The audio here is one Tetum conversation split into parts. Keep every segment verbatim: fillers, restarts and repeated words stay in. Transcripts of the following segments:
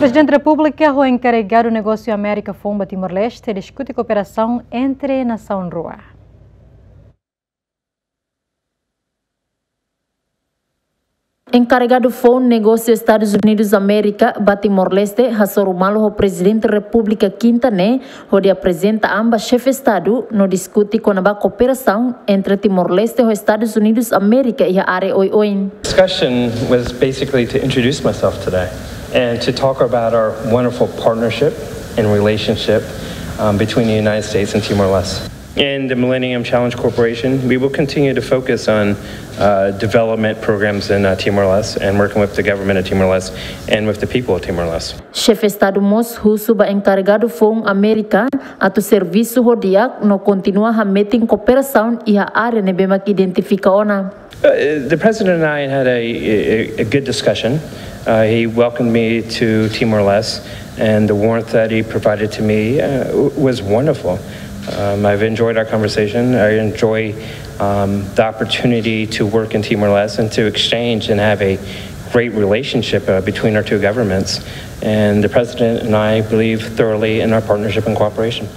Prezidente Repúblika ho enkarregadu negósiu Amérika foun ba Timor-Leste diskute kooperasaun entre nasaun rua. Enkarregadu foun negósiu Estadus Unidus Amérika ba Timor-Leste hasoru malu ho Prezidente Repúblika Kinta ne'e, hodi aprezenta an ba Xefe Estadu no diskute kona-ba kooperasaun entre Timor-Leste ho Estadus Unidus Amérika iha área oioin. Discussion was basically to introduce myself today and to talk about our wonderful partnership and relationship um, between the United States and Timor-Leste. In the Millennium Challenge Corporation, we will continue to focus on uh, development programs in uh, Timor-Leste and working with the government of Timor-Leste and with the people of Timor-Leste. Xefe Estadu mós husu ba enkarregadu foun Amérika atu servisu ho di'ak no kontinua hametin kooperasaun iha área ne'ebé mak identifika ona. Uh, the president and I had a, a, a good discussion. Uh, he welcomed me to Timor-Leste, and the warmth that he provided to me uh, was wonderful. Um, I've enjoyed our conversation. I enjoy um, the opportunity to work in Timor-Leste and to exchange and have a great relationship uh, between our two governments. And the president and I believe thoroughly in our partnership and cooperation.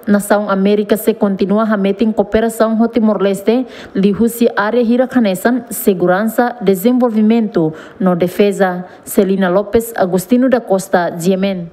Nasaun Amérika sei kontinua hametin kooperasaun ho Timor-Leste liuhusi área hirak hanesan seguransa, dezenvolvimentu no defeza. Celina Lopes, Agostinho da Costa, G M N.